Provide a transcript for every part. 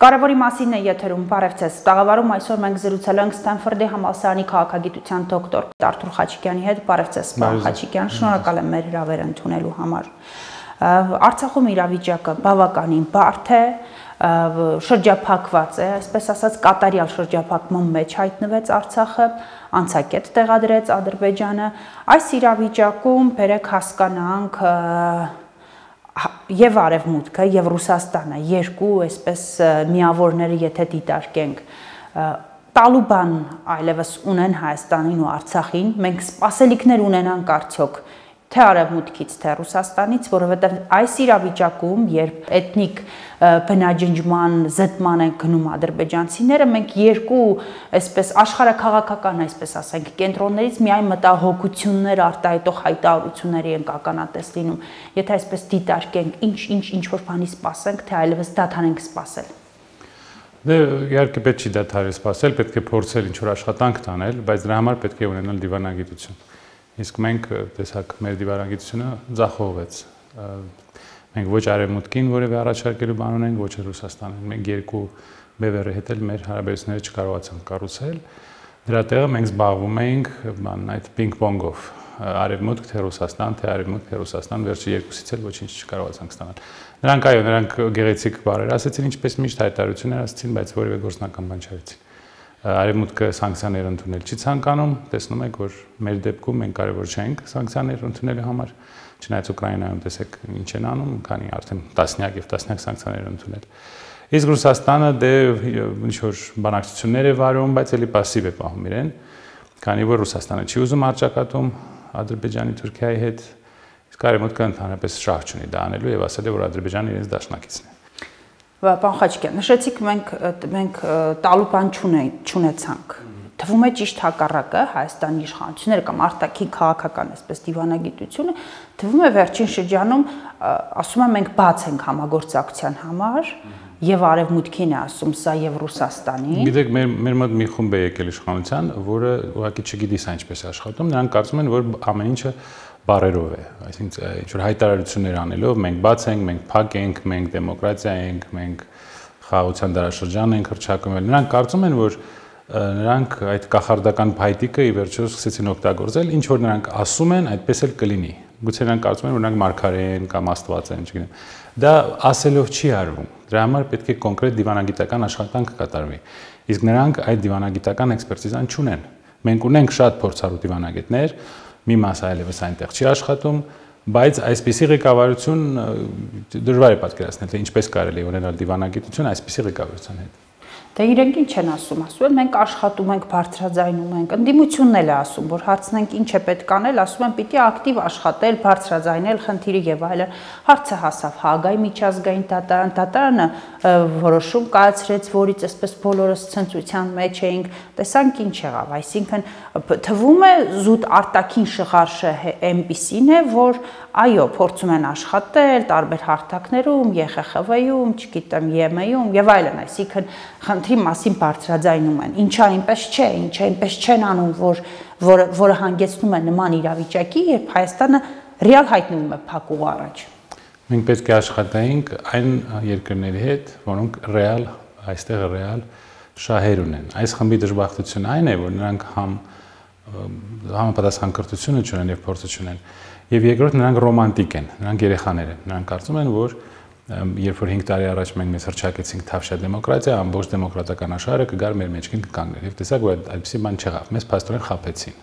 Կարևորի մասին է եթերում, բարև ձեզ։ Տաղավարում այսօր մենք զրուցել ենք Ստենֆորդի համալսարանի քաղաքագիտության դոկտոր Արթուր Խաչիկյանի հետ։ Բարև ձեզ, պարոն Խաչիկյան, շնորհակալ եմ մեր հրավերը ընդունելու համար։ Արցախում իրավիճակը բավականին բարդ է, շրջափակված է, այսպես ասած կատարյալ շրջափակման մեջ հայտնվեց Արցախը, անցակետ տեղադրեց Ադրբեջանը։ Այս իրավիճակում բերեք հասկանանք եւ Արևմուտքը եւ Ռուսաստանը երկու այսպես միավորները եթե դիտարկենք տալուբան այլևս ունեն Հայաստանին ու Արցախին մենք սպասելիքներ ունենանք արդյոք թե Արևմուտքից թե Ռուսաստանից, որովհետեւ այս իրավիճակում երբ էթնիկ բնաջնջման զտման են գնում ադրբեջանցիները մենք երկու այսպես աշխարհաքաղաքական այսպես ասենք կենտրոններից միայն մտահոգություններ արտահայտող հայտարարությունների են ականատես լինում, եթե այսպես դիտարկենք ինչ որ բանի սպասենք, թե այլևս դադարենք սպասել։ Դե իհարկե պետք չի դադարել սպասել, պետք է փորձել ինչ որ աշխատանք տանել, բայց դրա համար պետք է ունենալ դիվանագիտություն։ Իսկ մենք տեսակ մեր դիվանագիտությունը ձախողվեց։ Մենք ոչ Արևմուտքին որևէ առաջարկելու բան ունենք, ոչ Ռուսաստանին։ Մենք երկու բևեռի հետ էլ մեր հարաբերությունները չկարողացանք կառուցել։ Դրա տեղը մենք զբաղվում էինք այդ պինգ-պոնգով։ Արևմուտք թե Ռուսաստան, թե Արևմուտք թե Ռուսաստան, վերջի երկուսից էլ ոչինչ չկարողացանք ստանալ։ Նրանք գեղեցիկ բառեր ասեցին, ինչպես միշտ հայտարարություններ ասեցին, բայց որևէ գործնական բան չարեցին։ Արևմուտքը սանկցիաներ ընդունել չի ցանկանում, տեսնում եք, որ մեր դեպքում մենք կարևոր չենք սանկցիաներ ընդունելու համար, չնայած Ուկրաինայում տեսեք ինչ են անում, քանի արդեն տասնյակ եւ տասնյակ սանկցիաներ ընդունել։ Իսկ Ռուսաստանը դե ինչ որ բանակցություններ է վարում, բայց էլի пассив է պահում իրեն, քանի որ Ռուսաստանը չի ուզում արճակատում Ադրբեջանի Թուրքիայի հետ, իսկ Արևմուտքը ընդհանրապես շահ չունի դա անելու եւ ասել է, որ Ադրբեջանը իրենց դաշնակիցն է։ Պարոն Խաչիկյան, նշեցիք մենք տալուբան չունեցանք։ Թվում է ճիշտ հակառակը Հայաստանի իշխանությունները կամ արտաքին քաղաքական այսպես դիվանագիտությունը թվում է վերջին շրջանում ասում են մենք բաց ենք համագործակցության համար եւ Արևմուտքին է ասում սա եւ Ռուսաստանին։ Գիտեք, մեր մոտ մի խումբ է եկել իշխանության, որը ուղղակի չգիտի սա ինչպես է աշխատում, նրանք կարծում են, որ ամեն ինչը բարերով է, այսինքն ինչ որ հայտարարություններ անելով մենք բաց ենք, մենք փակ ենք, մենք դեմոկրատիա ենք, մենք խաղաղության դարաշրջան ենք հռչակում։ Նրանք կարծում են, որ նրանք այդ կախարդական փայտիկը ի վերջո սկսեցին օգտագործել, ինչ որ նրանք ասում են, այդպես էլ կլինի։ Գուցե նրանք կարծում են, որ նրանք մարգարե են կամ աստված են, չգիտեմ։ Դա ասելով չի արվում։ Դրա համար պետք է կոնկրետ դիվանագիտական աշխատանք կատարվի։ Իսկ նրանք այդ դիվանագիտական էքսպերտիզան չունեն։ Մենք ունենք շատ փորձառու դիվանագետներ, մի մասը այլևս այնտեղ չի աշխատում, բայց այսպիսի ղեկավարություն դժվար է պատկերացնել, թե ինչպես կարելի է ունենալ դիվանագիտություն այսպիսի ղեկավարության հետ։ Դե իրենք ինչ են ասում, ասում են մենք աշխատում ենք, բարձրաձայնում ենք, ընդդիմությունն էլ է ասում, որ հարցնենք ինչ է պետք անել, ասում են պիտի ակտիվ աշխատել, բարձրաձայնել խնդիրը եւ այլն։ Հարցը հասավ Հաագայի միջազգային դատարանը որոշում կայացրեց, որից այսպես բոլորս ցնծության մեջ էինք, տեսանք ինչ եղավ, այսինքն թվում է զուտ արտաքին շղարշը այնպիսին է, որ այո, փորձում են աշխատել տարբեր հարթակներում, ԵԽԽՎ-ում, չգիտեմ, ԵՄ-ում եւ այլն, այսինքն խնդրի մասին բարձրաձայնում են։ Ինչա այնպես չէ, ինչա այնպես չեն անում, որը հանգեցնում է նման իրավիճակի, երբ Հայաստանը ռեալ հայտնվում է փակուղ առաջ։ Մենք պետք է աշխատենք այն երկրների հետ, որոնք ռեալ այստեղ ռեալ շահեր ունեն։ Այս խմբի դժբախտությունը այն է, որ նրանք համապատասխան կրթությունը չունեն եւ փորձը չունեն։ Եվ երկրորդ նրանք ռոմանտիկ են, նրանք երեխաներ են։ Նրանք կարծում են, որ երբ որ 5 տարի առաջ մենք մեզ հռչակեցինք թավշյա դեմոկրատիա, ամբողջ դեմոկրատական աշխարհը կգար մեր մեջքին կկանգներ։ Եվ տեսակ, որ այդպեսի բան չեղավ։ Մեզ փաստորեն խաբեցին։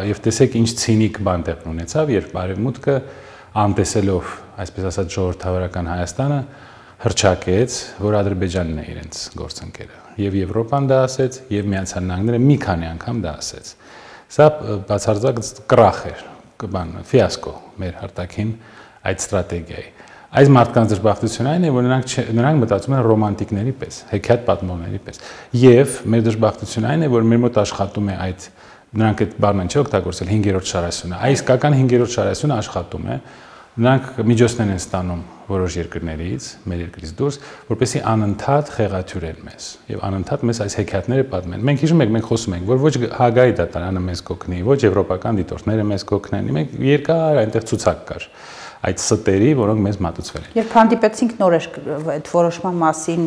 Եվ տեսեք ինչ ցինիկ բան տեղ ունեցավ, երբ Արևմուտքը անտեսելով, այսպես ասած, ժողովրդավարական Հայաստանը հռչակեց, որ Ադրբեջանն է իրենց գործընկերը։ Եվ Եվրոպան դա ասեց, եւ Միացյալ Նահանգները մի քանի անգամ դա ասեց։ Սա բացարձակ կրախ էր, ֆիասկո մեր արտաքին այդ ստրատեգիայի։ Այս մարդկանց դժբախտությունը այն է, որ նրանք մտածում են ռոմանտիկների պես, հեքիաթ պատմողների պես։ Եվ մեր դժբախտությունը այն է, որ մեր մոտ աշխատում է այդ նրանք այդ բառն են օգտագործել 5-րդ շարասյունը։ Այս իսկական 5-րդ շարասյունը աշխատում է։ Նրանք միջոցներ են ստանում որոշ երկրներից, մեր երկրից դուրս, որպեսզի անընդհատ խեղաթյուրեն մեզ եւ անընդհատ մեզ այս հեքիաթները պատմեն։ Մենք հիշում ենք, մենք խոսում ենք, որ ոչ Հաագայի դատարանը մեզ կօգնի, ոչ եվրոպական դիտորդները մեզ կօգնեն։ Մենք երկար այնտեղ ցուցակ կար։ այդ ստերի, որոնք մեզ մատուցվել են։ Երբ հանդիպեցինք նոր այդ որոշման մասին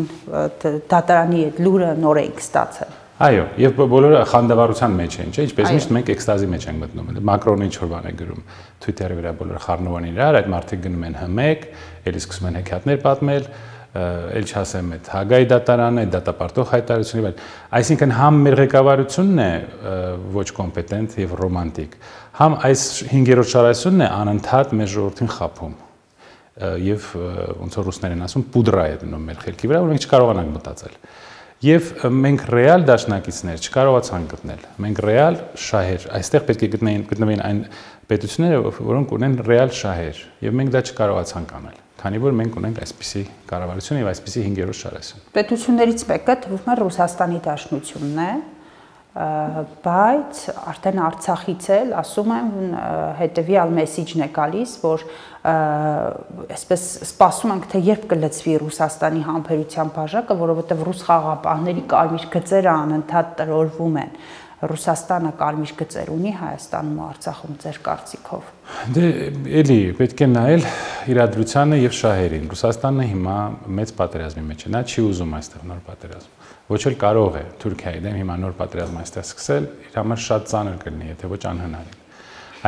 դատարանի այդ լուրը նոր էինք ստացել։ Այո, եւ բոլորը խանդավառության մեջ են, չէ՞, ինչպես միշտ մենք էքստազի մեջ ենք մտնում։ Մակրոնը ինչ որ բան է գրում Twitter-ի վրա, բոլորը խառնվում են իրար, այդ մարդիկ գնում են հմեկ, ելի սկսում են հեքիաթներ պատմել, ել չասեմ այդ Հագայի դատարանը, այդ դատապարտող հայտարարությունը, բայց այսինքն համ մեր ղեկավարությունն է ոչ կոմպետենտ եւ ռոմանտիկ, համ այս 5-րդ շարասյունն է անընդհատ մեր ժողովրդին խափում եւ ոնց որ ռուսներեն ասում պուդրա է դնում մեր խելքի վրա, որ մենք չկարողանանք մտածել։ Եվ մենք ռեալ դաշնակիցներ չկարողացանք գտնել։ Մենք ռեալ շահեր, այստեղ պետք է գտնվեն այն պետությունները, որոնք ունեն ռեալ շահեր, եւ մենք դա չկարողացանք անել, քանի որ մենք ունենք այսպիսի կառավարություն եւ այսպիսի 5-րդ շարասյուն։ Պետություններից մեկը թվում է Ռուսաստանի Դաշնությունն է, բայց արդեն Արցախից էլ ասում եմ հետեւյալ մեսիջն է գալիս, որ այսպես սպասում ենք, թե երբ կլծվի Ռուսաստանի համբերության բաժակը, որովհետև ռուս խաղաղապահների կարմիր գծերը անընդհատ տրորվում են։ Ռուսաստանը կարմիր գծեր ունի Հայաստանում ու Արցախում ձեր կարծիքով։ Դե էլի պետք է նայել իրադրությանը եւ շահերին։ Ռուսաստանը հիմա մեծ պատերազմի մեջ է, նա չի ուզում այստեղ նոր պատերազմ։ Ոչ էլ կարող է Թուրքիայի դեմ հիմա նոր պատերազմ այստեղ սկսել, իր համար շատ ծանր կլինի, եթե ոչ անհնարին։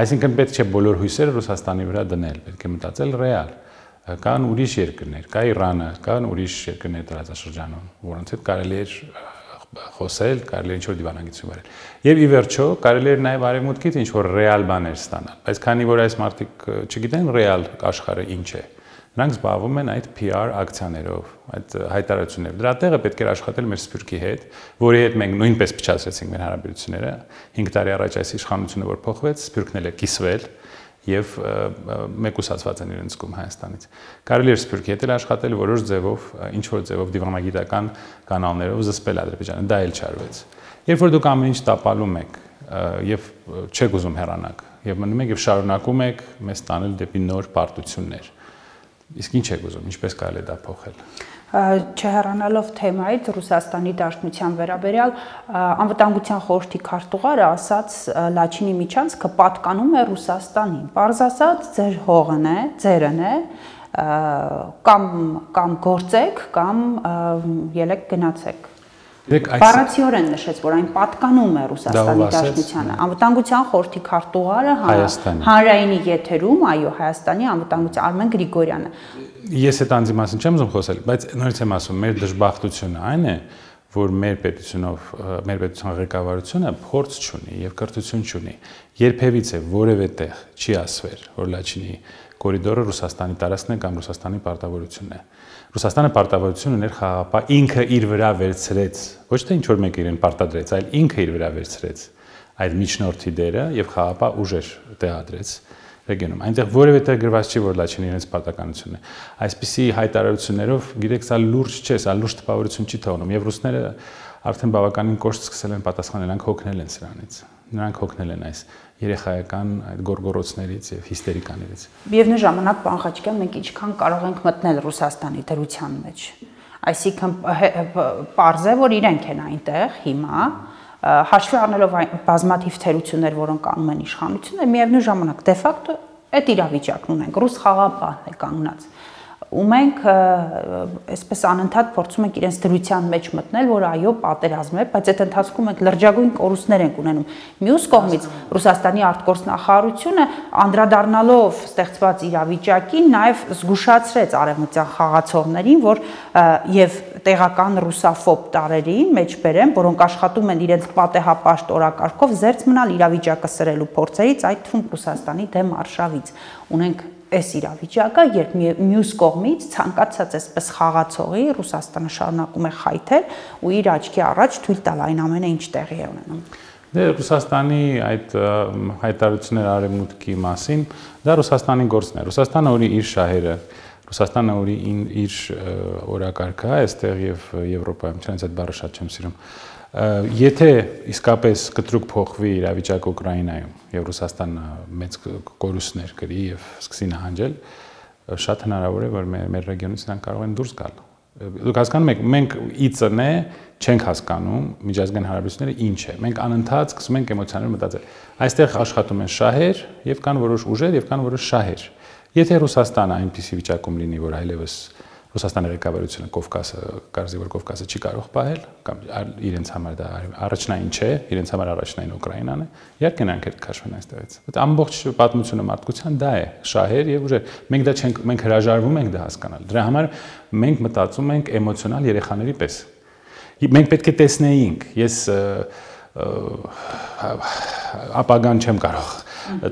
Այսինքն պետք չէ բոլոր հույսերը Ռուսաստանի վրա դնել, պետք է մտածել ռեալ։ Կան ուրիշ երկրներ, կա Իրանը, կան ուրիշ երկրներ տարածաշրջանում, որոնց հետ կարելի է խոսել, կարելի է ինչ-որ դիվանագիտություն վարել։ Եվ ի վերջո կարելի է նաև արևմուտքից ինչ-որ ռեալ բաներ ստանալ, բայց քանի որ այս մարդիկ չգիտեն ռեալ աշխարհը ինչ է, նրանք զբաղվում են այդ PR ակցիաներով, այդ հայտարարություններով։ Դրա տեղը պետք է աշխատել մեր Սփյուռքի հետ, որի հետ մենք նույնպես փչացրեցինք մեր հարաբերությունները։ 5 տարի առաջ այս իշխանությունը որ փոխվեց, Սփյուռքն էլ է կիսվել եւ մեկուսացված են իրենց կողմ Հայաստանից։ Կարելի է Սփյուռքի հետ աշխատել որոշ ձևով, ինչ որ ձևով դիվանագիտական կանալներով զսպել Ադրբեջանը, դա էլ չարվեց։ Երբ որ դուք ամեն ինչ տապալում եք եւ չեք ուզում հեռանալ եւ մնում եք եւ շարունակում եք մեզ տանել դեպի նոր պարտություններ, իսկ ինչ եք ուզում, ինչպես կարելի է դա փոխել։ Չհեռանալով թեմայից Ռուսաստանի Դաշնության վերաբերյալ անվտանգության խորհրդի քարտուղարը ասաց Լաչինի միջանցքը պատկանում է Ռուսաստանին։ Պարզ ասած, ձեր հողն է, ձերն է, կամ գործեք, կամ ելեք գնացեք։ Բառացիորեն նշեց, որ այն պատկանում է Ռուսաստանի Դաշնությանը։ Անվտանգության խորհրդի քարտուղարը հանրայինի եթերում, այո, Հայաստանի անվտանգության Արմեն Գրիգորյանը։ Ես այդ անձի մասին չեմ ուզում խոսել, բայց նորից եմ ասում, մեր դժբախտությունը այն է, որ մեր պետության ղեկավարությունը փորձ չունի եւ կրթություն չունի։ Երբևիցե որևէ տեղ չի ասվել, որ Լաչինի կորիդորը Ռուսաստանի տարածքն է կամ Ռուսաստանի պարտավորությունն է։ Ռուսաստանը պարտավորություն ուներ խաղաղապահ, ինքը իր վրա վերցրեց, ոչ թե ինչ որ մեկը իրեն պարտադրեց, այլ ինքը իր վրա վերցրեց այդ միջնորդի դերը եւ խաղաղապահ ուժեր տեղադրեց ռեգիոնում։ Այնտեղ որևէ տեղ գրված չի, որ Լաչինը իրենց պարտականությունն է։ Այսպիսի հայտարարություններով, գիտեք, սա լուրջ չէ, սա լուրջ տպավորություն չի թողնում եւ ռուսները արդեն բավականին կոշտ սկսել են պատասխանել, նրանք հոգնել են սրանից։ Նրանք հոգնել են այս երեխայական այդ գորգորոցներից եւ հիստերիկաներից։ Միևնույն ժամանակ, պարոն Խաչիկյան, մենք ինչքան կարող ենք մտնել Ռուսաստանի դրության մեջ։ Այսինքն պարզ է, որ իրենք են այնտեղ հիմա, հաշվի առնելով այն բազմաթիվ թերություններ, որոնք անում են իշխանությունը, միևնույն ժամանակ դե ֆակտո այդ իրավիճակն ունենք, ռուս խաղաղապահն է կանգնած։ Ու մենք այսպես անընդհատ փորձում ենք իրենց դրության մեջ մտնել, որ այո, պատերազմ է, բայց այդ ընթացքում մենք լրջագույն կորուստներ ենք ունենում։ Մյուս կողմից Ռուսաստանի արտգործնախարարությունը անդրադառնալով ստեղծված իրավիճակին նաև զգուշացրեց արևմտյան խաղացողներին, որ եւ տեղական ռուսաֆոբ տարերին մեջբերեմ, որոնք աշխատում են իրենց պատեհապաշտ օրակարգով զերծ մնալ իրավիճակը սրելու փորձերից, այդ թվում Ռուսաստանի դեմ արշավից։ Ունենք այս իրավիճակը, երբ մյուս կողմից ցանկացած այսպես խաղացողի Ռուսաստանը շարունակում է խայթել ու իր աչքի առաջ թույլ տալ այն ամենը, ինչ տեղի է ունենում։ Դե Ռուսաստանի այդ հայտարարությունները արևմուտքի մասին, դա Ռուսաստանի գործն է։ Ռուսաստանը ունի իր շահերը, Ռուսաստանը ունի իր օրակարգը, այստեղ եւ Եվրոպայում, չնայած այդ բառը շատ չեմ սիրում։ Եթե իսկապես կտրուկ փոխվի իրավիճակը Ուկրաինայում եւ Ռուսաստանը մեծ կորուստներ կրի եւ սկսի նահանջել, շատ հնարավոր է, որ մեր ռեգիոնից նրանք կարող են դուրս գալ։ Դուք հասկանում եք, մենք ԻԾՆ չենք հասկանում միջազգային հարաբերությունները ինչ է։ Մենք անընդհատ սկսում ենք էմոցիաներ մտածել։ Այստեղ աշխատում են շահեր եւ կան որոշ ուժեր եւ կան որոշ շահեր։ Եթե Ռուսաստանը այնպիսի վիճակում լինի, որ այլևս Ռուսաստանի ղեկավարությունը կարծի որ Կովկասը չի կարող պահել, կամ իրենց համար դա առաջնային չէ, իրենց համար առաջնային Ուկրաինան է, իհարկե նրանք հետ քաշվեն այստեղից։ Բայց ամբողջ պատմությունը մարդկության դա է, շահեր եւ ուժեր։ Մենք դա չենք, մենք հրաժարվում ենք դա հասկանալ։ Դրա համար մենք մտածում ենք էմոցիոնալ երեխաների պես։ Մենք պետք է տեսնեինք, ես ապագան չեմ կարող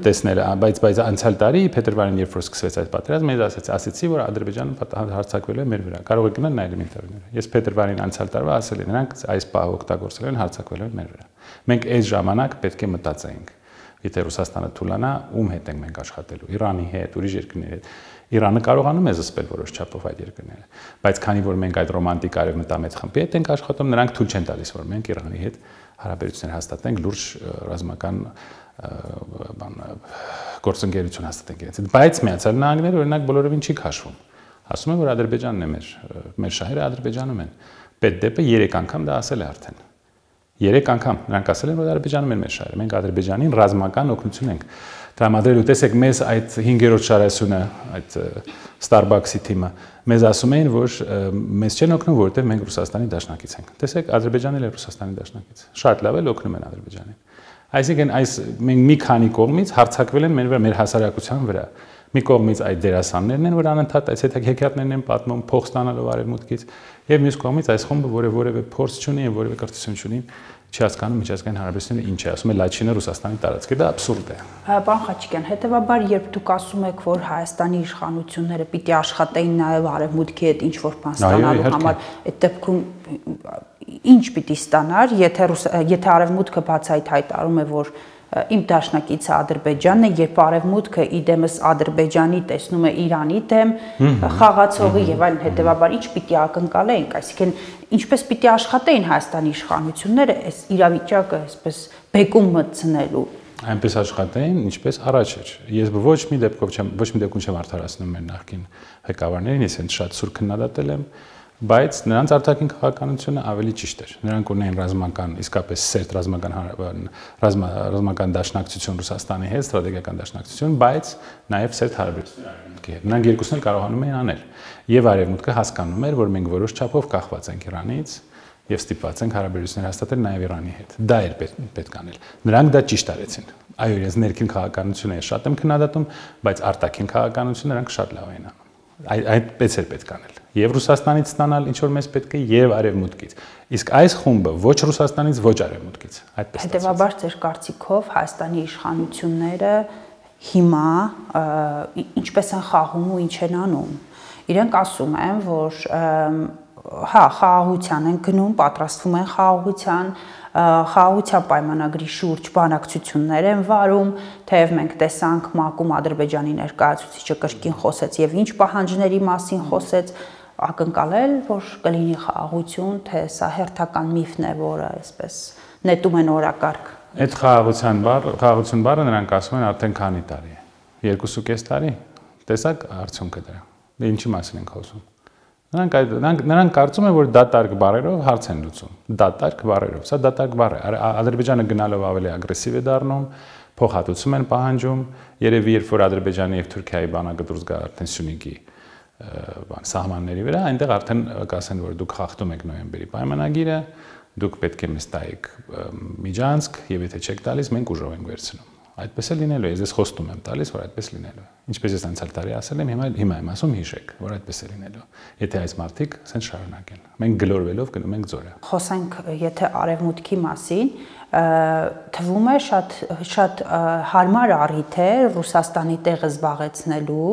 տեսնել, բայց անցյալ տարի փետրվարին երբ որ սկսվեց այդ պատերազմը, ես ասացի, որ Ադրբեջանը հարձակվել է մեր վրա։ Կարող է գնալ նայել իմ ինտերվյուները։ Ես փետրվարին անցյալ տարվա ասել եմ, նրանք այս պահը օգտագործել են, հարձակվել են մեր վրա։ Մենք այս ժամանակ պետք է մտածեինք, եթե Ռուսաստանը թուլանա, ում հետ ենք մենք աշխատելու, Իրանի հետ, ուրիշ երկրների հետ։ Իրանը կարողանում է զսպել որոշ չափով այդ երկրները, բայց քանի որ մենք այդ ռոմանտիկ արևմտամետ խմբի հետ ենք աշխատում, նրանք թույլ չեն տալիս, որ մենք Իրանի հետ հարաբերություններ հաստատենք, լուրջ ռազմական գործընկերություն հաստատենք իրենց հետ, բայց Միացյալ Նահանգները օրինակ բոլորովին չի քաշվում։ Ասում են, որ Ադրբեջանն է մեր շահերը Ադրբեջանում են։ Պետդեպը 3 անգամ դա ասել է արդեն։ 3 անգամ նրանք ասել են, որ Ադրբեջանում են մեր շահերը։ Մենք Ադրբեջանին ռազմական օգնություն ենք տրամադրելու։ Տեսեք, մեզ այդ 5-րդ շարասյունը, այդ Starbucks-ի թիմը մեզ ասում էին, որ մեզ չեն օգնում, որովհետև մենք Ռուսաստանի դաշնակից ենք։ Տեսեք, Ադրբեջանն էլ է Ռուսաստանի դաշնակից։ Շատ լավ էլ օգնում են Ադրբեջանին։ Այսինքն մենք մի քանի կողմից հարձակվել են մեր հասարակության վրա։ Մի կողմից այդ դերասաններն են, որ անընդհատ այս հետաքրքրներն են պատմում փող ստանալով արևմուտքից, եւ մյուս կողմից այս խումբը, որը որևէ փորձ չունի եւ որևէ կրթություն չունի, չի հասկանում միջազգային հարաբերությունները ինչ է, ասում է Լաչինը Ռուսաստանի տարածք է, դա աբսուրդ է։ Պարոն Խաչիկյան, հետեւաբար երբ դուք ասում եք, որ Հայաստանի իշխանությունները պիտի աշխատեին նաեւ արևմուտքի հետ ինչ որ բան ստանալու համար, այդ դեպքում ինչ պիտի ստանար, եթե արևմուտքը բացայտ հայտարարում է, որ իմ դաշնակիցը Ադրբեջանն է, երբ արևմուտքը իդեմս Ադրբեջանի տեսնում է Իրանի դեմ խաղացողի եւ այլն, հետեւաբար ինչ պիտի ակնկալեինք, այսինքն ինչպես պիտի աշխատեին Հայաստանի իշխանությունները այս իրավիճակը այսպես բեկում մտցնելու։ Այնպես աշխատեին, ինչպես առաջ էր։ Ես ոչ մի դեպքում չեմ արդարացնում մեր նախկին ղեկավարներին, ես հենց շատ սուր քննադատել եմ, բայց նրանց արտաքին քաղաքականությունը ավելի ճիշտ էր։ Նրանք ունեին ռազմական, իսկապես սերտ ռազմական դաշնակցություն Ռուսաստանի հետ, ստրատեգիական դաշնակցություն, բայց նաև սերտ հարաբերություններ արևմուտքի հետ։ Նրանք երկուսն էլ կարողանում էին անել։ Եվ արևմուտքը հասկանում էր, որ մենք որոշ չափով կախված ենք Իրանից եւ ստիպված ենք հարաբերություններ հաստատել նաև Իրանի հետ։ Դա էր պետք անել։ Նրանք դա ճիշտ արեցին։ Այո, ես ներքին քաղաքականությունը շատ եմ քննադատում, բայց արտաքին քաղաքականությունը նրանք շատ լավ էին անում։ Այդպես էր պետք անել։ Եվ Ռուսաստանից ստանալ ինչ որ մեզ պետք է, եւ արևմուտքից։ Իսկ այս խումբը ոչ Ռուսաստանից, ոչ արևմուտքից։ Այդպես։ Հետևաբար ձեր կարծիքով Հայաստանի իշխանությունները հիմա ինչպես են խաղում ու ինչ են անում։ Իրենք ասում են, որ խաղաղության են գնում, պատրաստվում են խաղաղության պայմանագրի շուրջ բանակցություններ են վարում, թեև մենք տեսանք ՄԱԿ-ում Ադրբեջանի ներկայացուցիչը կրկին խոսեց եւ ինչ պահանջների մասին խոսեց, ակնկալել, որ կլինի խաղաղություն, թե սա հերթական միֆն է, որը այսպես նետում են օրակարգ։ Այդ խաղաղություն բառը նրանք ասում են արդեն քանի տարի է։ 2.5 տարի։ Տեսակ արդյունքը դրա։ Դե ինչի մասին ենք խոսում։ Նրանք կարծում են, որ դատարկ բառերով հարց են լուծում։ Դատարկ բառերով, սա դատարկ բառ է։ Ադրբեջանը գնալով ավելի ագրեսիվ է դառնում, փոխհատուցում են պահանջում, երևի երբ որ Ադրբեջանի եւ Թուրքիայի բանակը դուրս գա արդեն Սյունիքի սահմանների վրա, այնտեղ արդեն կասեն, որ դուք խախտում եք նոյեմբերի պայմանագիրը, դուք պետք է մեզ տայեք միջանցք եւ եթե չեք տալիս, մենք ուժով ենք վերցնում։ Այդպես է լինելու է, ես խոստում եմ տալիս, որ այդպես լինելու է։ Ինչպես ես անցյալ տարի ասել եմ, հիմա եմ ասում հիշեք, որ այդպես է լինելու։ Եթե այս մարդիկ ասեն շարունակեն, մենք գլորվելով գնում ենք ձորը։ Խոսենք եթե արևմուտքի մասին, թվում է շատ հարմար առիթ է Ռուսաստանի տեղը զբաղեցնելու,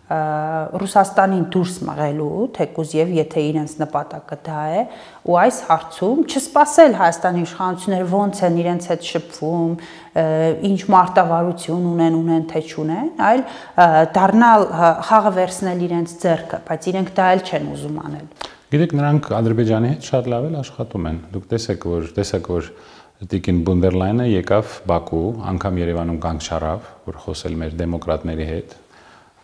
Ռուսաստանին դուրս մղելու, թեկուզ եւ եթե իրենց նպատակը դա է, ու այս հարցում չսպասել Հայաստանի իշխանությունները ոնց են իրենց հետ շփվում, ինչ մարտավարություն ունեն թե չունեն, այլ դառնալ խաղը վերցնել իրենց ձեռքը, բայց իրենք դա էլ չեն ուզում անել։ Գիտեք, նրանք Ադրբեջանի հետ շատ լավ էլ աշխատում են։ Դուք տեսեք, որ Տիկին Բունդերլայնը եկավ Բաքու, անգամ Երևանում կանգ չառավ, որ խոսել մեր դեմոկրատների հետ։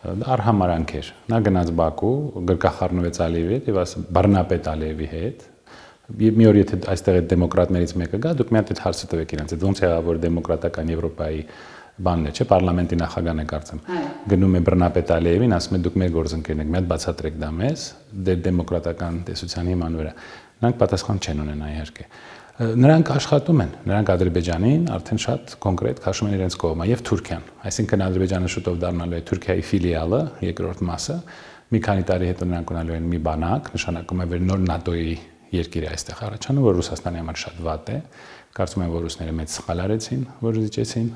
Արհամարանք էր։ Նա գնաց Բաքու, գրկախառնվեց Ալիևի հետ եւ Բարնապետ Ալիևի հետ։ Մի օր եթե այստեղ այդ դեմոկրատներից մեկը գա, դուք մի հատ այդ հարցը տվեք իրենց, ոնց եղավ որ դեմոկրատական Եվրոպայի բանն է, չէ, parlamenti նախագահն է կարծեմ։ Գնում է բռնապետ Ալիևին, ասում է դուք մեր գործընկերն եք, մի հատ բացատրեք դա մեզ, դեմոկրատական տեսության հիման վրա։ Նրանք պատասխան չեն ունենա իհարկե։ Նրանք աշխատում են, նրանք Ադրբեջանին արդեն շատ կոնկրետ քաշում են իրենց կողմը եւ Թուրքիան, այսինքն Ադրբեջանը շուտով դառնալու է Թուրքիայի ֆիլիալը, երկրորդ մասը, մի քանի տարի հետո նրանք ունենալու են մի բանակ, նշանակում է որ նոր ՆԱՏՕ-ի երկիր է այստեղ առաջանում, որ Ռուսաստանի համար շատ վատ է, կարծում եմ որ ռուսները մեծ սխալ արեցին, որ զիջեցին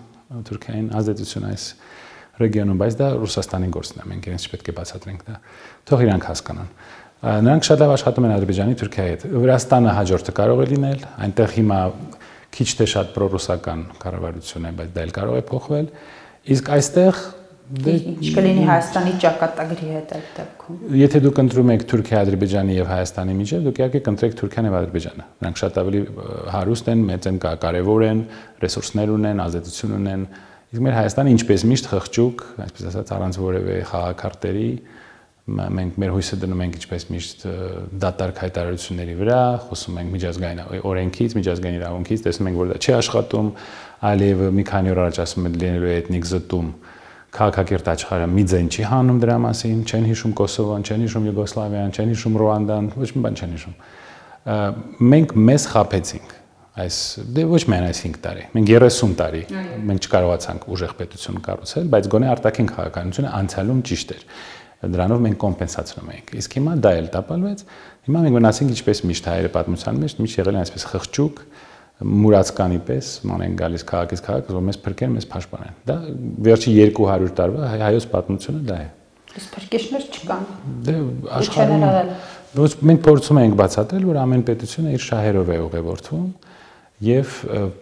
Թուրքիային ազդեցություն այս ռեգիոնում, բայց դա Ռուսաստանի գործն է, մենք իրենց չպետք է բացատրենք դա, թող իրանք հասկանան։ Նրանք շատ լավ աշխատում են Ադրբեջանի Թուրքիայի հետ։ Վրաստանը հաջորդը կարող է լինել, այնտեղ հիմա քիչ թե շատ պրոռուսական կառավարություն է, բայց դա էլ կարող է փոխվել։ Իսկ այստեղ ինչ կլինի Հայաստանի ճակատագրի հետ այդ դեպքում։ Եթե դուք ընտրում եք Թուրքիա, Ադրբեջանի եւ Հայաստանի միջեւ, դուք իհարկե կընտրեք Թուրքիան եւ Ադրբեջանը։ Նրանք շատ ավելի հարուստ են, մեծ են, կարեւոր են, ռեսուրսներ ունեն, ազդեցություն ունեն։ Իսկ մեր Հայաստանը ինչպես միշտ խղճուկ, այսպես ասած, առանց որևէ խաղակարտերի մենք մեր հույսը դնում ենք ինչպես միշտ դատարկ հայտարարությունների վրա, խոսում ենք միջազգային օրենքից, միջազգային իրավունքից, տեսնում ենք որ դա չի աշխատում, Ալիևը մի քանի օր առաջ ասում է լինելու է էթնիկ զտում, քաղաքակիրթ աշխարհը մի ձայն չի հանում դրա մասին, չեն հիշում Կոսովոն, չեն հիշում Յուգոսլավիան, չեն հիշում Ռուանդան, ոչ մի բան չեն հիշում։ Մենք մեզ խաբեցինք այս դե ոչ միայն այս 5 տարի, մենք 30 տարի մենք չկարողացանք ուժեղ պետություն կառուցել, բայց գոնե արտաքին քաղաքականությունը անցյալում ճիշտ էր։ Դրանով մենք կոմպենսացնում ենք։ Իսկ հիմա դա էլ տապալվեց։ Հիմա մենք մնացինք ինչպես միշտ հայերը պատմության մեջ, միշտ եղել են այսպես խղճուկ, մուրացկանի պես, ման են գալիս քաղաքից քաղաք, որ մեզ փրկեն, մեզ փաշտպանեն։ Դա վերջի 200 տարվա հայոց պատմությունը դա է։ Իսկ փրկիչներ չկան։ Դե աշխարհում մենք փորձում ենք բացատրել, որ ամեն պետությունը իր շահերով է ուղևորվում եւ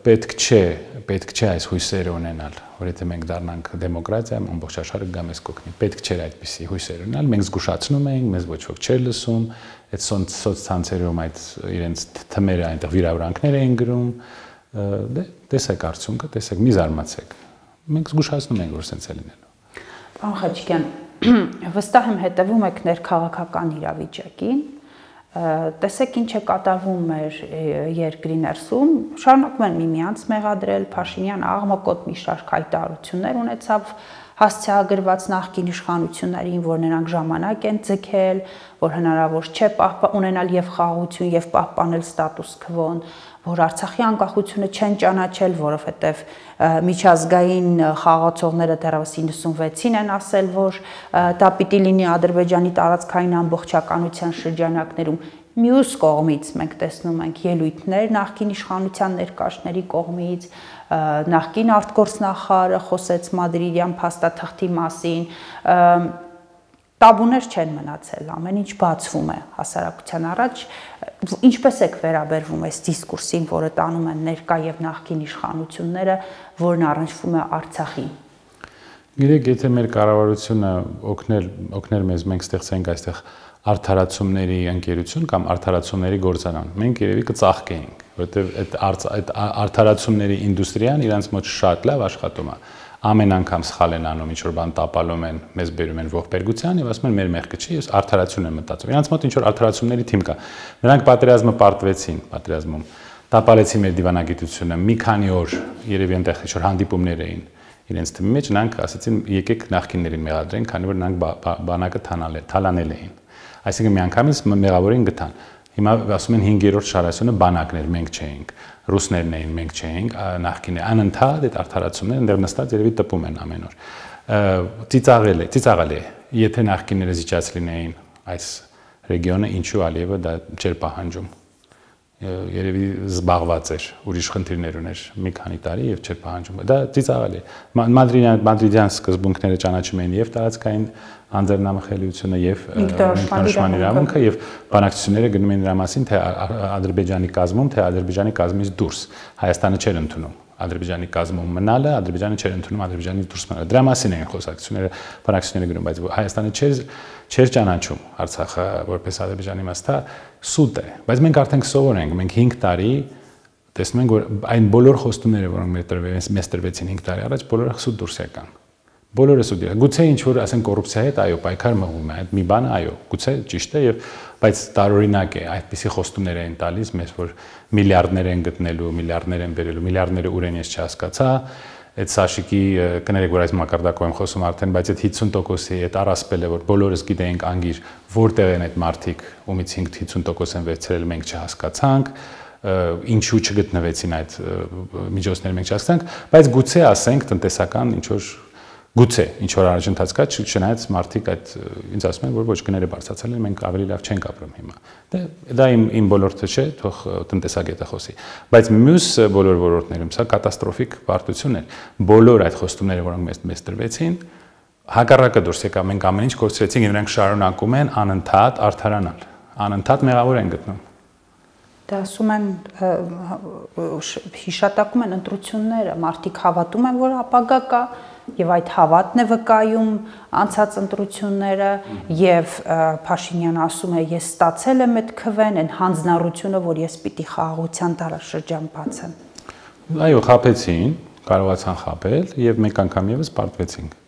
պետք չէ այս հույսերը ունենալ, որ եթե մենք դառնանք դեմոկրատիա, ամբողջ աշխարհը գա մեզ կօգնի։ Պետք չէ այդպիսի հույսեր ունենալ, մենք զգուշացնում ենք, մեզ ոչ ոք չէր լսում, այդ սոցցանցերում այդ իրենց թմերը այնտեղ վիրավորանքներ էին գրում, դե տեսեք արդյունքը, տեսեք, մի զարմացեք։ Մենք զգուշացնում ենք, որ սենց է լինելու։ Պարոն Խաչիկյան, վստահ եմ հետևում եք ներքաղաքական իրավիճակին, տեսեք ինչ է կատարվում մեր երկրի ներսում, շարունակում են միմյանց մեղադրել, Փաշինյանը աղմկոտ մի շարք հայտարարություններ ունեցավ հասցեագրված նախկին իշխանություններին, որ նրանք ժամանակ են ձգել, որ հնարավոր չէ ունենալ եւ խաղաղություն եւ պահպանել ստատուս քվոն, որ Արցախի անկախությունը չեն ճանաչել, որովհետեւ միջազգային խաղացողները դեռևս 96-ին են ասել, որ դա պիտի լինի Ադրբեջանի տարածքային ամբողջականության շրջանակներում։ Մյուս կողմից մենք տեսնում ենք ելույթներ նախկին իշխանության ներկայացների կողմից, նախկին արտգործնախարարը խոսեց մադրիդյան փաստաթղթի մասին, տաբուներ չեն մնացել, ամեն ինչ բացվում է հասարակության առաջ, ինչպես եք վերաբերվում այս դիսկուրսին, որը տանում են ներկա եւ նախկին իշխանությունները, որն առնչվում է Արցախին։ Գիտեք, եթե մեր կառավարությունը օգներ մեզ, մենք ստեղծենք այստեղ արդարացումների ընկերություն կամ արդարացումների գործարան, մենք երևի կծաղկեինք, որովհետեւ այդ արդարացումների ինդուստրիան իրանց մոտ շատ լավ աշխատում է։ Ամեն անգամ սխալ են անում, ինչ-որ բան տապալում են, մեզ բերում են ողբերգության եւ ասում են մեր մեղքը չի, ես արդարացություն եմ մտածում։ Իրանց մոտ ինչ-որ արդարացումների թիմ կա։ Նրանք պատերազմը պարտվեցին, պատերազմում տապալեցին մեր դիվանագիտությունը, մի քանի օր երևի այնտեղ ինչ-որ հանդիպումներ էին իրենց թիմի մեջ, նրանք ասացին եկեք նախկիններին մեղադրենք, քանի որ նրանք բանակը թալանել էին։ Այսինքն միանգամից մեղավորին գտան։ Հիմա ասում են 5-րդ շարասյունը բանակներ մենք չէինք, ռուսներն էին մենք չէինք, նախկինը անընդհատ այդ արդարացումները այնտեղ նստած երևի տպում են ամեն օր։ Ծիծաղել է, եթե նախկինները զիջած լինեին այս ռեգիոնը, ինչու Ալիևը դա չէր պահանջում։ Երևի զբաղված էր, ուրիշ խնդիրներ ուներ մի քանի տարի եւ չէր պահանջում։ Դա ծիծաղել է։ Մադրիդյան սկզբունքները ճանաչում էին եւ տարածքային անձեռնամխելիությունը եւ ինքնորոշման իրավունքը եւ բանակցությունները գնում են դրա մասին, թե Ադրբեջանի կազմում, թե Ադրբեջանի կազմից դուրս։ Հայաստանը չէր ընդունում Ադրբեջանի կազմում մնալը, Ադրբեջանը չէր ընդունում Ադրբեջանից դուրս մնալը։ Դրա մասին էին խոսակցությունները, բանակցությունները գնում, բայց Հայաստանը չէր ճանաչում Արցախը որպես Ադրբեջանի մաս, դա սուտ է։ Բայց մենք արդեն սովոր ենք, մենք 5 տարի տեսնում ենք, որ այն բոլոր խոստումները, որոնք մեզ տրվեցին 5 տարի առաջ, բոլորը սուտ դուրս եկան։ Բոլորը սուտ եկան։ Գուցե ինչ որ ասեն կոռուպցիայի հետ, այո, պայքար մղում է, այդ մի բանը, այո, գուցե ճիշտ է եւ բայց տարօրինակ է, այդպիսի խոստումներ են տալիս մեզ, որ միլիարդներ են գտնելու, միլիարդներ են բերելու, միլիարդները ուր են ես չհասկացա, այդ Սաշիկի կներեք, որ այս մակարդակով եմ խոսում արդեն, բայց այդ 50%-ի այդ առասպելը, որ բոլորս գիտենք անգիր որտեղ են այդ մարդիկ, ումից 50% են վերցրել, մենք չհասկացանք, ինչու չգտնվեցին այդ միջոցները, մենք չհասկացանք, բայց գուցե ասենք տնտեսական ինչ որ գուցե ինչ որ առաջընթաց կա, չնայած մարդիկ այդ ինձ ասում են, որ ոչ գները բարձրացել են, մենք ավելի լավ չենք ապրում հիմա։ Դա իմ ոլորտը չէ, թող տնտեսագետը խոսի, բայց մյուս բոլոր ոլորտներում սա կատաստրոֆիկ պարտություն է։ Բոլոր այդ խոստումները, որոնք մեզ տրվեցին, հակառակը դուրս եկավ, մենք ամեն ինչ կորցրեցինք, եւ նրանք շարունակում են անընդհատ արդարանալ, անընդհատ մեղավոր են գտնում։ Դա ասում են հիշատակում են ընտրությունները, մարդիկ հավատում են, որ ապագա կա եւ այդ հավատն է վկայում անցած ընտրությունները եւ Փաշինյանը ասում է ես ստացել եմ այդ քվեն, այն հանձնառությունը, որ ես պիտի խաղաղության դարաշրջան բացեմ։ Այո, խաբեցին, կարողացան խաբել եւ մեկ անգամ եւս պարտվեցինք։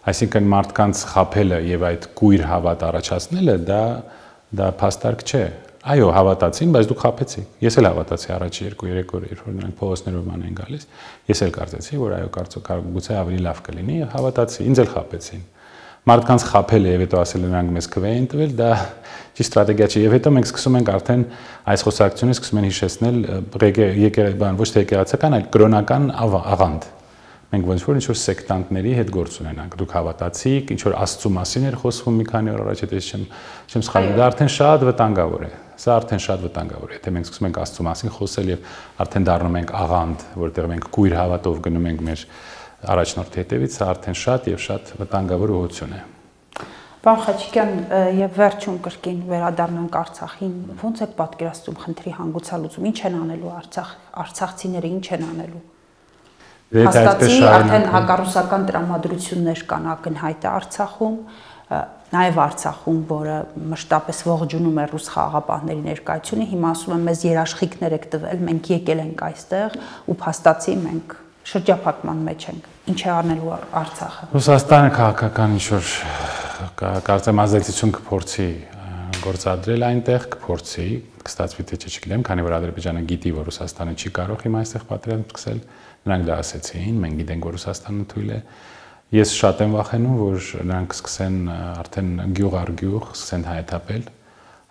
Այսինքն մարդկանց խաբելը եւ այդ կույր հավատ առաջացնելը դա փաստարկ չէ։ Այո, հավատացին, բայց դուք խաբեցիք։ Ես էլ հավատացի առաջի 2-3 օրը, երբ որ նրանք փողոցներով ման են գալիս, ես էլ կարծեցի, որ այո, կարծում գուցե ավելի լավ կլինի, հավատացի, ինձ էլ խաբեցին։ Մարդկանց խաբելը եւ հետո ասել նրանք մեզ քվե են տվել, դա ճիշտ ստրատեգիա չէ։ Եվ հետո մենք սկսում ենք արդեն այս խոսակցությունը սկսում են հիշեցնել ոչ թե եկեղեցական, այլ կրոնական աղանդ։ Մենք ոնց որ ինչ-որ սեկտանտների հետ գործ ունենանք։ Դուք հավատացիք, ինչ-որ Աստծո մասին էր խոսվում մի քանի օր առաջ, եթե չեմ սխալվում, դա արդեն շատ վտանգավոր է։ Սա արդեն շատ վտանգավոր է, եթե մենք սկսում ենք Աստծո մասին խոսել եւ արդեն դառնում ենք աղանդ, որտեղ մենք կույր հավատով գնում ենք մեր առաջնորդի հետևից, սա արդեն շատ եւ շատ վտանգավոր ուղղություն է։ Պարոն Խաչիկյան, եւ վերջում կրկին վերադառնանք Արցախին, ո՞նց եք պատկերացնում խնդրի հանգուցալուծում, ինչ են անելու արցախցիները, ինչ են անելու։ Հաստատի արդեն հակառուսական տրամադրություններ կան ակնհայտ Արցախում, նաև Արցախում, որը մշտապես ողջունում է ռուս խաղաղապահների ներկայությունը, հիմա ասում են մեզ երաշխիքներ եք տվել, մենք եկել ենք այստեղ ու փաստացի մենք շրջափակման մեջ ենք։ Ինչ է անելու Արցախը։ Ռուսաստանը քաղաքական ինչ-որ կարծեմ ազդեցություն կփորձի գործադրել այնտեղ, կփորձի, կստացվի թե չգիտեմ, քանի որ Ադրբեջանը գիտի, որ Ռուսաստանը չի կարող հիմա այստեղ պատերազմ սկսել, նրանք դա ասեցին, մենք գիտենք, որ Ռուսաստանը թույլ է։ Ես շատ եմ վախենում, որ նրանք սկսեն արդեն գյուղ առ գյուղ սկսեն հայթապել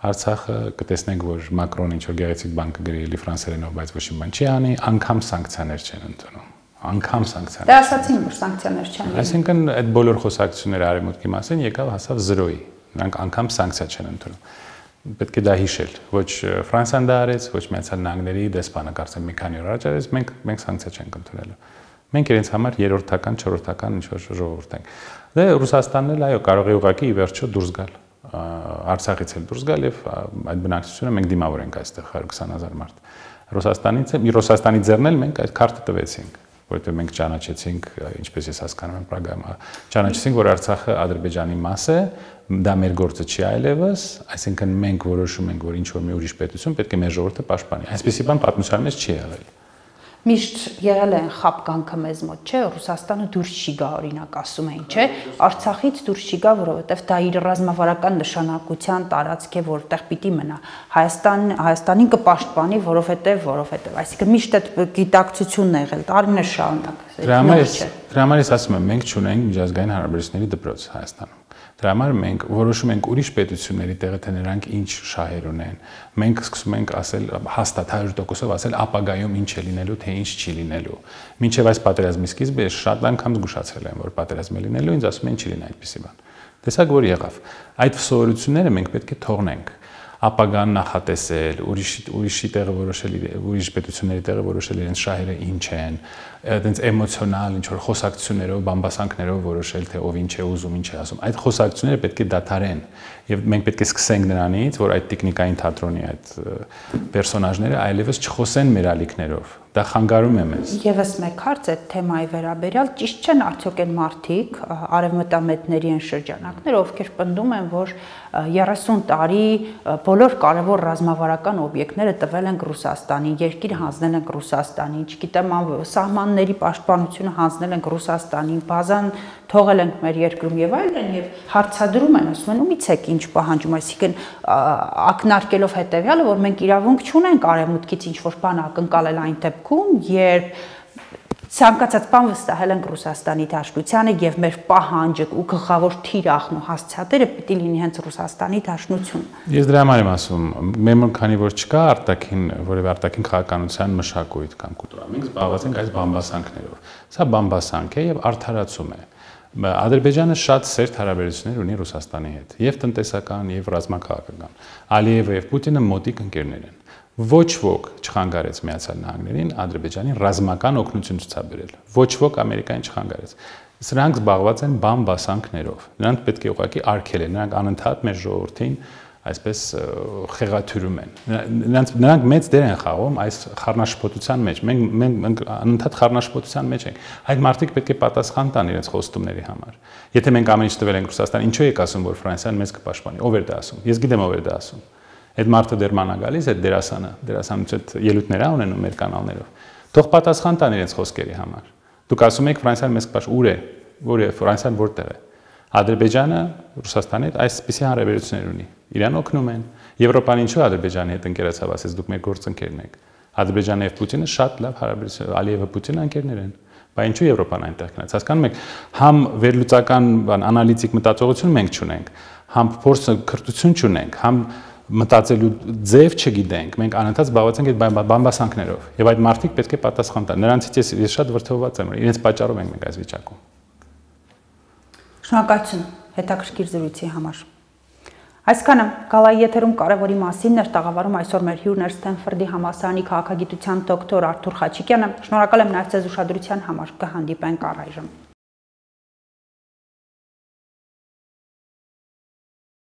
Արցախը, կտեսնենք, որ Մակրոնը ինչ-որ գեղեցիկ բան կգրի էլի ֆրանսերենով, բայց ոչ մի բան չի անի, անգամ սանկցիաներ չեն ընդունում։ Անգամ սանկցիաներ։ Դա ասացին, որ սանկցիաներ չեն։ Այսինքն այդ բոլոր խոսակցությունները արևմուտքի մասին եկավ հասավ 0-ի։ Նրանք անգամ սանկցիա չեն ընդունում։ Պետք է դա հիշել։ Ոչ Ֆրանսիան դա արեց, ոչ Միացյալ Նահանգների դեսպանը կարծեմ մի քանի օր առաջ արեց, մենք սանկցիա չենք ընդունելու։ Մենք իրենց համար երրորդական, չորրորդական ինչ-որ ժողովուրդ ենք։ Դե Ռուսաստանն էլ այո, կարող է ուղղակի ի վերջո դուրս գալ։ Արցախից էլ դուրս գալ եւ այդ բնակչությունը մենք դիմավոր ենք այստեղ 120,000 մարդ։ Ռուսաստանի ձեռն էլ մենք այդ քարտը տվեցինք, որովհետեւ մենք ճանաչեցինք, ինչպես ես հասկանում եմ Պրագայում, ճանաչեցինք, որ Արցախը Ադրբեջանի մաս է, դա մեր գործը չի այլևս, այսինքն մենք որոշում ենք, որ ինչ որ մի ուրիշ պետություն պետք է մեր ժողովուրդը պաշտպանի։ Այսպեսի բան պատմության մեջ չի եղել։ Միշտ եղել են խապկանքը մեզ մոտ, չէ, Ռուսաստանը դուրս չի գա, օրինակ ասում էին, չէ, Արցախից դուրս չի գա, որովհետև դա իր ռազմավարական նշանակության տարածք է, որտեղ պիտի մնա։ Հայաստանին կպաշտպանի, որովհետև, այսինքն միշտ այդ գիտակցությունն է եղել, տարիներ շարունակ։ Դրա համար ես ասում եմ, մենք չունենք միջազգային հարաբերությունների դպրոց Հայաստանում։ Դրա համար մենք որոշում ենք ուրիշ պետությունների տեղը, թե նրանք ինչ շահեր ունեն։ Մենք սկսում ենք ասել հաստատ 100%-ով ասել ապագայում ինչ է լինելու, թե ինչ չի լինելու։ Մինչև այս պատերազմի սկիզբը ես շատ անգամ զգուշացրել եմ, որ պատերազմ է լինելու, ինձ ասում են չի լինի այդպիսի բան։ Տեսակ որ եղավ։ Այդ սովորությունները մենք պետք է թողնենք։ Ապագան նախատեսել, ուրիշի տեղը որոշել, ուրիշ պետությունների տեղը որոշել իրենց շահերը ինչ են, այդպես էմոցիոնալ ինչ որ խոսակցություններով, բամբասանքներով որոշել, թե ով ինչ է ուզում, ինչ է ասում։ Այդ խոսակցությունները պետք է դադարեն, եւ մենք պետք է սկսենք նրանից, որ այդ տեխնիկային թատրոնի այդ պերսոնաժները այլևս չխոսեն մեր ալիքներով։ Դա խանգարում է մեզ։ Եվս մեկ հարց այդ թեմայի վերաբերյալ, ճիշտ չեն արդյոք այն մարդիկ, արևմտամետների են շրջանակները, ովքեր պնդում են, որ 30 տարի բոլոր կարևոր ռազմավարական օբյեկտները տվել են Ռուսաստանին, երկիր հանձնել են Ռուսաստանին, չգիտեմ, սահմանների պաշտպանությունը հանձնել են Ռուսաստանին, բազան թողել ենք մեր երկրում եւ այլն, եւ հարցադրում են, ասում են, ումից եք ինչ պահանջում, այսինքն ակնարկելով հետեւյալը, որ մենք իրավունք չունենք արևմուտքից ինչ որ բան ակնկալել այն դեպքում, երբ Ցանկացած բան վստահել ենք Ռուսաստանի Դաշնությանը եւ մեր պահանջը ու գլխավոր թիրախն ու հասցեատերը պիտի լինի հենց Ռուսաստանի Դաշնությունը։ Ես դրա համար եմ ասում, մեր քանի որ չկա որևէ արտաքին քաղաքականության մշակույթ կամ կուլտուրա, մենք զբաղված ենք այս բամբասանքներով։ Սա բամբասանք է եւ արդարացում է։ Ադրբեջանը շատ սերտ հարաբերություններ ունի Ռուսաստանի հետ, եւ տնտեսական, եւ ռազմաքաղաքական։ Ալիևը եւ Պուտինը մոտիկ ընկերներ են։ Ոչ ոք չխանգարեց Միացյալ Նահանգներին Ադրբեջանին ռազմական օգնություն ցուցաբերել։ Ոչ ոք Ամերիկային չխանգարեց։ Սրանք զբաղված են բամբասանքներով։ Նրանք պետք է ուղղակի արգելեն, նրանք անընդհատ մեր ժողովրդին այսպես խեղաթյուրում են։ Նրանք մեծ դեր են խաղում այս խառնաշփոթության մեջ։ Մենք անընդհատ խառնաշփոթության մեջ ենք։ Այդ մարդիկ պետք է պատասխան տան իրենց խոստումների համար։ Եթե մենք ամեն ինչ տվել ենք Ռուսաստանին, ինչու եք ասում, որ Ֆրանսիան մեզ կպաշտպանի։ Ով էր դա ասում։ Ես գիտեմ ով էր դա ասում։ Այդ մարդը դեռ մանա գալիս, այդ դերասանուց այդ ելույթներ ունենում մեր կանալներով։ Թող պատասխան տան իրենց խոսքերի համար։ Դուք ասում եք Ֆրանսիան մեզ կպաշտպանի, ուր է։ Որ է Ֆրանսիան որտեղ է։ Ադրբեջանը Ռուսաստանի հետ այսպիսի հարաբերություններ ունի։ Իրան օգնում են։ Եվրոպան ինչու Ադրբեջանի հետ ընկերացավ, ասես դուք մեր գործընկերն եք։ Ադրբեջանը եւ Պուտինը շատ լավ հարաբերություն, Ալիևը Պուտինը ընկերներ են։ Բայց ինչու Եվրոպան այնտեղ գնաց։ Հասկանում եք, համ վերլուծական անալիտիկ մտածողություն մենք չունենք, համ փորձը քրտություն չունենք, համ մտածելու ձև չգիտենք, մենք անընդհատ զբաղված ենք այդ բամբասանքներով եւ այդ մարդիկ պետք է պատասխան տան։ Նրանցից ես շատ վրդովված եմ, իրենց պատճառով ենք մենք այս վիճակում։ Շնորհակալություն հետաքրքիր զրույցի համար։ Այսքանը գալայի եթերում կարևորի մասին էր տաղավարում այսօր մեր հյուրն էր Սթենֆորդի համալսարանի քաղաքագիտության դոկտոր Արթուր Խաչիկյանը։ Շնորհակալ եմ նաև ձեզ ուշադրության համար։ Կհանդիպենք առայժմ։